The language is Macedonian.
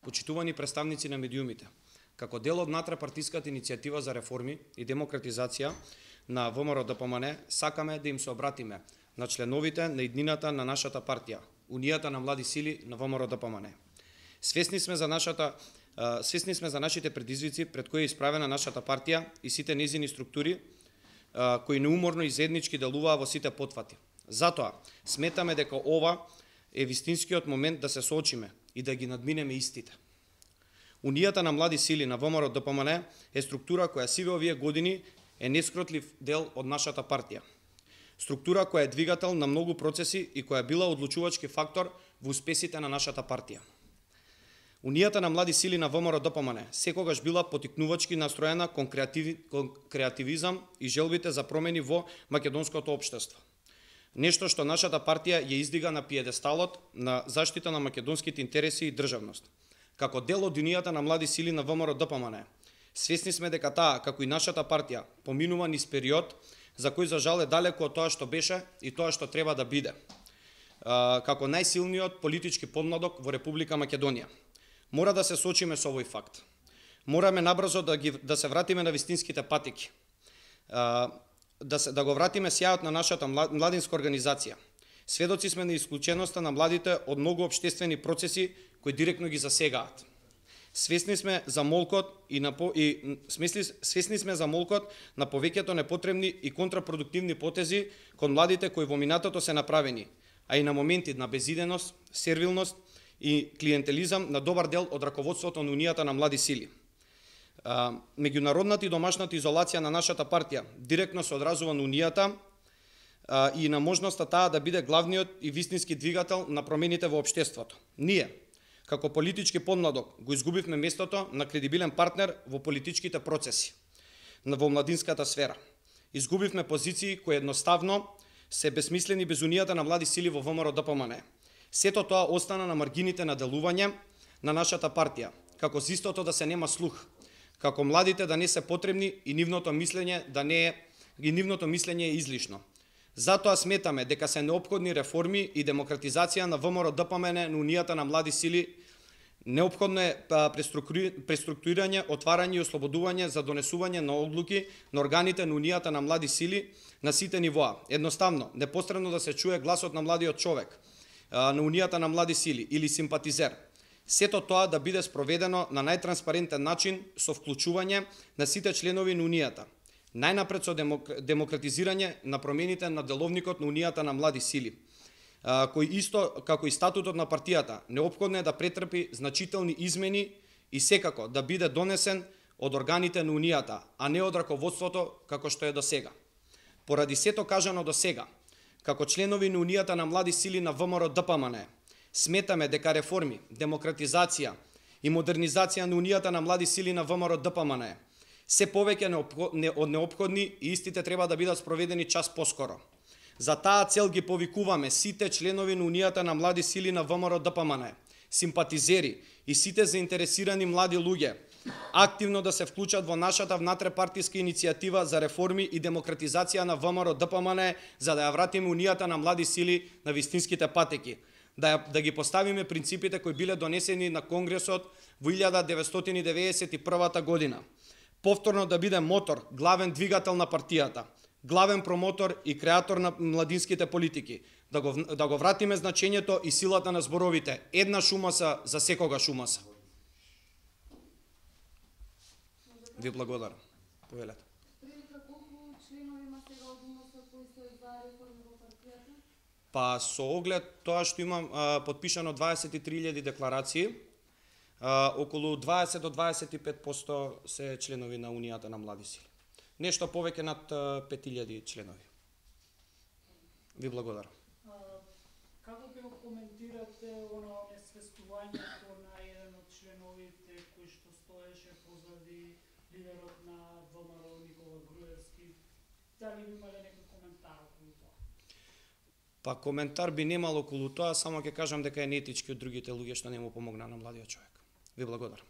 почитувани представници на медиумите, како дел од натрапартиската иницијатива за реформи и демократизација на ВМРО-ДПМН, сакаме да им се обратиме на членовите на иднината на нашата партија, Унијата на млади сили на ВМРО-ДПМН. Свесни сме за нашите предизвици пред кои е исправена нашата партија и сите нејзини структури, кои неуморно и заеднички делуваа во сите потфати. Затоа сметаме дека ова е вистинскиот момент да се соочиме и да ги надминеме истите. Унијата на млади сили на ВМРО-ДПМН е структура која сиве овие години е нескротлив дел од нашата партија. Структура која е двигател на многу процеси и која била одлучувачки фактор во успесите на нашата партија. Унијата на млади сили на ВМРО-ДПМН секогаш била потикнувачки настроена кон креативизам и желбите за промени во македонското општество. Нешто што нашата партија ја издига на пиедесталот на заштита на македонските интереси и државност. Како дел од Унијата на млади сили на ВМРО-ДПМН, свесни сме дека таа, како и нашата партија, поминува низ период за кој за жал е далеко од тоа што беше и тоа што треба да биде, како најсилниот политички подмладок во Република Македонија. Мора да се соочиме со овој факт. Мораме набрзо да се вратиме на вистинските патеки, да го вратиме сјајот на нашата младинска организација. Сведоци сме на исклученоста на младите од многу општествени процеси кои директно ги засегаат. Свесни сме за молкот на повеќето непотребни и контрапродуктивни потези кон младите кои во минатото се направени, а и на моменти на безиденост, сервилност и клиентелизам на добар дел од раководството на Унијата на млади сили. Меѓународната и домашната изолација на нашата партија директно се одразува на Унијата и на можноста таа да биде главниот и вистински двигател на промените во општеството. Ние, како политички подмладок, го изгубивме местото на кредибилен партнер во политичките процеси во младинската сфера. Изгубивме позиции кои едноставно се безсмислени без Унијата на млади сили во ВМРО-ДПМН. Сето тоа остана на маргините на делување на нашата партија, како зистото да се нема слух, како младите да не се потребни и нивното мислење е излишно. Затоа сметаме дека се неопходни реформи и демократизација на ВМРО-ДПМН на Унијата на млади сили. Неопходно е преструктурирање, отварање и ослободување за донесување на одлуки на органите на Унијата на млади сили на сите нивоа. Едноставно, непосредно да се чуе гласот на младиот човек на Унијата на млади сили или симпатизер. Сето тоа да биде спроведено на најтранспарентен начин со вклучување на сите членови на Унијата. Најнапред со демократизирање на промените на деловникот на Унијата на млади сили, кој исто како и статутот на партијата неопходно е да претрпи значителни измени и секако да биде донесен од органите на Унијата, а не од раководството како што е до сега. Поради сето кажано до сега, како членови на Унијата на млади сили на ВМРО-ДПМН, сметаме дека реформи, демократизација и модернизација на Унијата на млади сили на ВМРО-ДПМН се повеќе од неопходни и истите треба да бидат спроведени час поскоро. За таа цел ги повикуваме сите членови на Унијата на млади сили на ВМРО-ДПМН, симпатизери и сите заинтересирани млади луѓе активно да се вклучат во нашата внатрепартиска иницијатива за реформи и демократизација на ВМРО-ДПМН, за да ја вратиме Унијата на млади сили на вистинските патеки, да ги поставиме принципите кои биле донесени на Конгресот во 1991 година. Повторно да биде мотор, главен двигател на партијата, главен промотор и креатор на младинските политики, да го вратиме значењето и силата на зборовите. Една шумаса за секогаш умаса. Ви благодарам. Повелете. Па со оглед тоа што имам подпишано 23.000 декларации, околу 20 до 25% се членови на Унијата на млади сили. Нешто повеќе над 5.000 членови. Ви благодарам. Како ќе го коментирате онесвестувањето на еден од членовите кој што стоеше позади лидерот на ВМРО Никола Груевски? Дали имале некој коментар околу тоа? Па коментар би немал околу тоа, само ќе кажам дека е неетички од другите луѓе што не му помогна на младиот човек. Ви благодарам.